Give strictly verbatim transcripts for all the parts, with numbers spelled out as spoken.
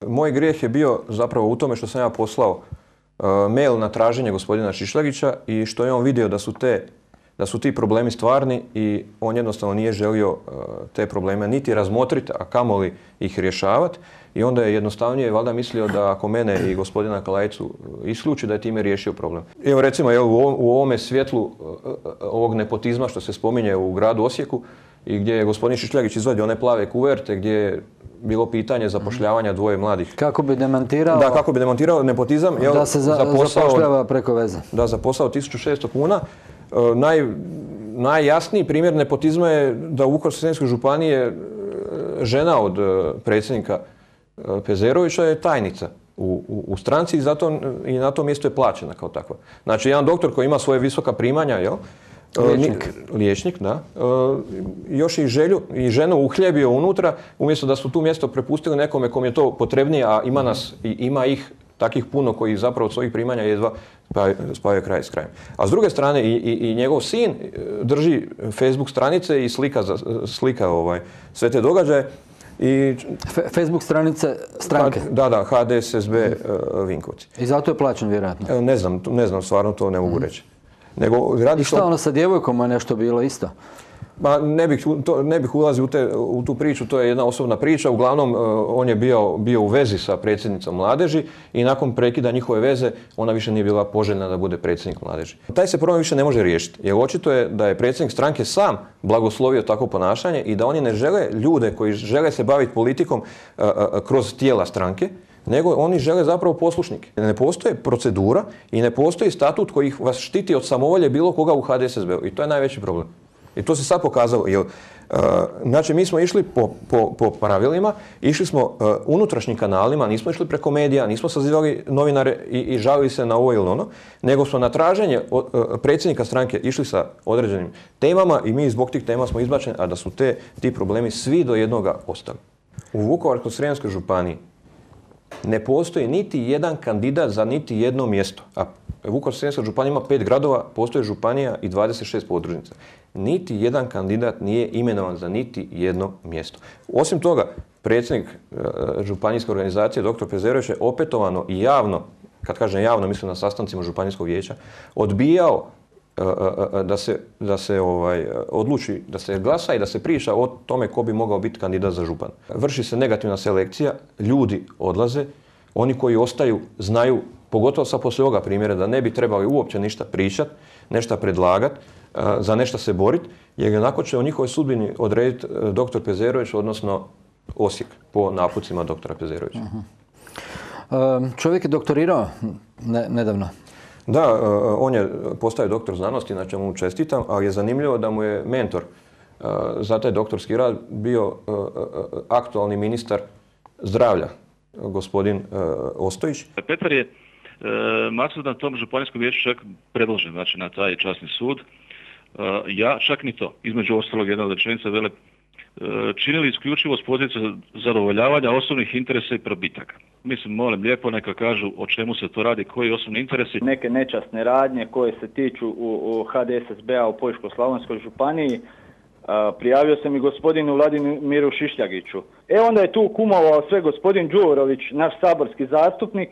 Moj grijeh je bio zapravo u tome što sam ja poslao uh, mail na traženje gospodina Šišljagića i što je on vidio da su, te, da su ti problemi stvarni i on jednostavno nije želio uh, te probleme niti razmotriti, a kamoli ih rješavati. I onda je jednostavnije valjda mislio da ako mene i gospodina Kalajicu isključi da je time riješio problem. Evo recimo jel, u, ovom, u ovome svjetlu uh, ovog nepotizma što se spominje u gradu Osijeku i gdje je gospodin Šišljagić izvadio one plave kuverte gdje je bilo pitanje zapošljavanja dvoje mladih. Kako bi demantirao? Da, kako bi demantirao nepotizam. Jel, da se za, za posao, zapošljava preko veze. Da, za posao tisuću šesto kuna. E, naj, najjasniji primjer nepotizma je da u Vukovarsko-srijemskoj županiji je žena od predsjednika Pezerovića je tajnica u, u, u stranci i, zato, i na tom mjestu je plaćena kao takva. Znači, jedan doktor koji ima svoje visoka primanja, jel? Liječnik. Liječnik, da. Još i želju i ženu uhljebio unutra, umjesto da su tu mjesto prepustili nekome kom je to potrebnije, a ima nas i ima ih takih puno koji zapravo od svojih primanja jedva spajaju kraj s krajem. A s druge strane i, i, i njegov sin drži Facebook stranice i slika, slika ovaj, sve te događaje. I, Facebook stranice stranke? Da, da, H D S S B uh, Vinkovci. I zato je plaćen vjerojatno? Ne znam, ne znam, stvarno to ne mogu reći. Nego, radi I šta to... ono sa djevojkom je nešto bilo isto? Ma, ne bih, to, ne bih ulazio u, te, u tu priču, to je jedna osobna priča. Uglavnom, on je bio, bio u vezi sa predsjednicom mladeži i nakon prekida njihove veze ona više nije bila poželjna da bude predsjednik mladeži. Taj se problem više ne može riješiti, jer očito je da je predsjednik stranke sam blagoslovio takvo ponašanje i da oni ne žele ljude koji žele se baviti politikom a, a, kroz tijela stranke, nego oni žele zapravo poslušnike. Ne postoji procedura i ne postoji statut koji vas štiti od samovolje bilo koga u H D S S B-u. I to je najveći problem. I to se sad pokazalo. Jer, uh, znači, mi smo išli po, po, po pravilima, išli smo uh, unutrašnjim kanalima, nismo išli preko medija, nismo sazivali novinare i, i žalili se na ovo ili ono, nego smo na traženje uh, predsjednika stranke išli sa određenim temama i mi zbog tih tema smo izbačeni, a da su te, ti problemi svi do jednoga ostali. U Vukovarsko-srijemskoj županiji ne postoji niti jedan kandidat za niti jedno mjesto. A Vukovarsko-srijemska županija ima pet gradova, postoji županija i dvadeset šest podružnica. Niti jedan kandidat nije imenovan za niti jedno mjesto. Osim toga, predsjednik e, županijske organizacije, doktor Pezerović, je opetovano i javno, kad kažem javno, mislim na sastancima županijskog vijeća, odbijao e, e, da se, da se ovaj, odluči, da se glasa i da se priča o tome ko bi mogao biti kandidat za župan. Vrši se negativna selekcija, ljudi odlaze, oni koji ostaju znaju, pogotovo sa poslije ovoga primjera, da ne bi trebali uopće ništa pričati, nešto predlagati, za nešto se boriti, jer onako će o njihovoj sudbini odrediti doktor Pezerović, odnosno Osijek, po napucima doktora Pezerovića. Uh-huh. Čovjek je doktorirao ne, nedavno. Da, on je postao doktor znanosti, na čemu mu čestitam, ali je zanimljivo da mu je mentor za taj doktorski rad bio aktualni ministar zdravlja, gospodin Ostojić. Petar je maksud na tom županijskom vijeću čak predložen, znači na taj časni sud. Ja čak ni to. Između ostalog jedna od rečenica vele činili isključivo s pozicije zadovoljavanja osobnih interesa i probitaka. Mislim, molim lijepo neka kažu o čemu se to radi, koji osobni interesi. Neke nečasne radnje koje se tiču u, u H D S S B-a u Požeško-slavonskoj županiji. A, prijavio sam i gospodinu Vladimiru Šišljagiću. E onda je tu kumovao sve gospodin Đurović, naš saborski zastupnik,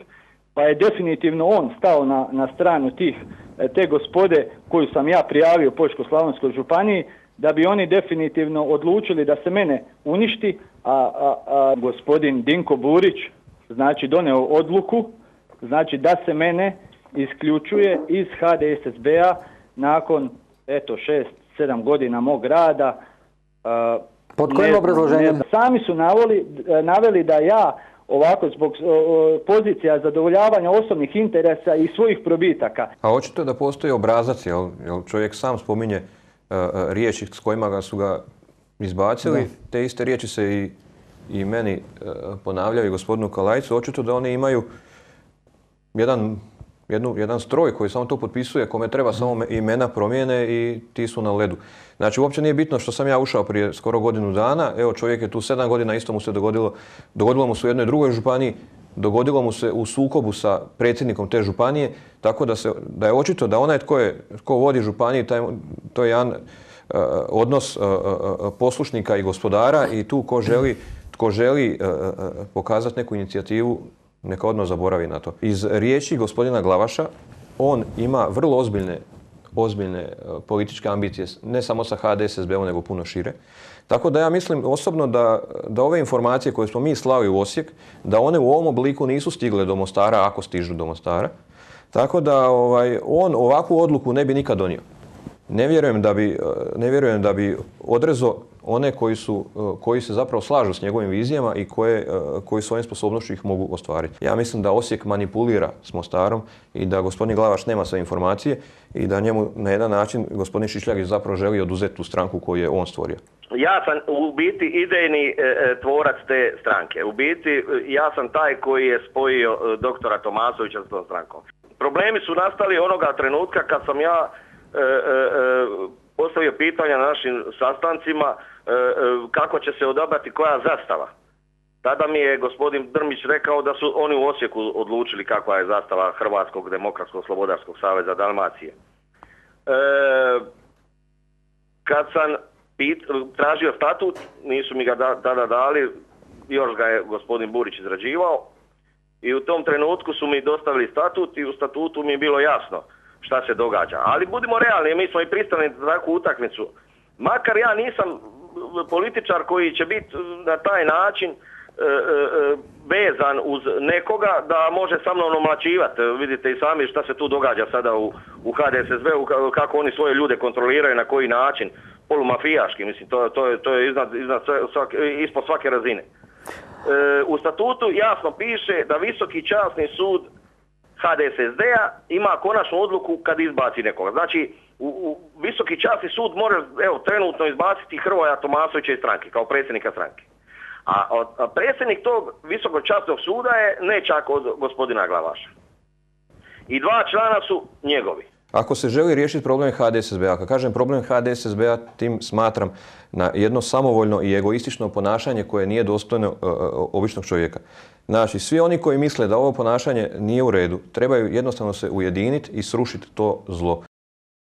pa je definitivno on stao na, na stranu tih, te gospode koju sam ja prijavio u Požeško-slavonskoj županiji, da bi oni definitivno odlučili da se mene uništi, a, a, a gospodin Dinko Burić znači doneo odluku, znači da se mene isključuje iz H D S S B-a nakon eto šest, sedam godina mog rada. A, Pod kojim obrazloženjem? Sami su navoli, naveli da ja ovako zbog o, pozicija zadovoljavanja osobnih interesa i svojih probitaka. A očito je da postoji obrazac, jel, jel čovjek sam spominje uh, riječi s kojima ga su ga izbacili, da. Te iste riječi se i, i meni uh, ponavljaju i gospodinu Kalajcu. Očito da oni imaju jedan, jednu, jedan stroj koji samo to potpisuje, kome treba samo imena promijene i ti su na ledu. Znači, uopće nije bitno što sam ja ušao prije skoro godinu dana. Evo, čovjek je tu sedam godina, isto mu se dogodilo. Dogodilo mu se u jednoj drugoj županiji, dogodilo mu se u sukobu sa predsjednikom te županije, tako da, se, da je očito da onaj tko, je, tko vodi županiju, taj, to je jedan uh, odnos uh, uh, poslušnika i gospodara i tu ko želi tko želi uh, pokazati neku inicijativu, neka odmah zaboravi na to. Iz riječi gospodina Glavaša, on ima vrlo ozbiljne, ozbiljne uh, političke ambicije, ne samo sa H D S S B-om, nego puno šire. Tako da ja mislim osobno da, da ove informacije koje smo mi slali u Osijek, da one u ovom obliku nisu stigle do Mostara, ako stižu do Mostara. Tako da ovaj, on ovakvu odluku ne bi nikad donio. Ne vjerujem da bi, ne vjerujem da bi odrezao one koji, su, koji se zapravo slažu s njegovim vizijama i koje, koji svojim sposobnošću ih mogu ostvariti. Ja mislim da Osijek manipulira s Mostarom i da gospodin Glavaš nema sve informacije i da njemu na jedan način gospodin Šišljagić zapravo želi oduzeti tu stranku koju je on stvorio. Ja sam u biti idejni e, tvorac te stranke. U biti ja sam taj koji je spojio e, doktora Tomasovića s tom strankom. Problemi su nastali onoga trenutka kad sam ja e, e, postavio pitanja na našim sastancima e, e, kako će se odabrati koja zastava. Tada mi je gospodin Drmić rekao da su oni u Osijeku odlučili kakva je zastava Hrvatskog demokratskog slobodarskog saveza Dalmacije. E, kad sam pit, tražio statut, nisu mi ga da, tada dali, još ga je gospodin Burić izrađivao. I u tom trenutku su mi dostavili statut i u statutu mi je bilo jasno šta se događa. Ali budimo realni, mi smo i pristali na takvu utakmicu. Makar ja nisam političar koji će biti na taj način e, e, vezan uz nekoga da može sa mnom omlaćivati. Vidite i sami šta se tu događa sada u, u H D S S B-u, kako oni svoje ljude kontroliraju, na koji način, polumafijaški, mislim, to, to je, to je iznad, iznad svake, ispod svake razine. E, u statutu jasno piše da Visoki časni sud H D S S B-a ima konačnu odluku kad izbaci nekoga. Znači, u, u Visoki časni sud može evo, trenutno izbaciti Hrvoja Tomasovića iz stranke, kao predsjednika stranke. A, a predsjednik tog Visokog časnog suda je nečak od gospodina Glavaša. I dva člana su njegovi. Ako se želi riješiti problem H D S S B-a, kad kažem problem H D S S B-a, tim smatram na jedno samovoljno i egoistično ponašanje koje nije dostojno uh, običnog čovjeka. Znači, svi oni koji misle da ovo ponašanje nije u redu, trebaju jednostavno se ujediniti i srušiti to zlo.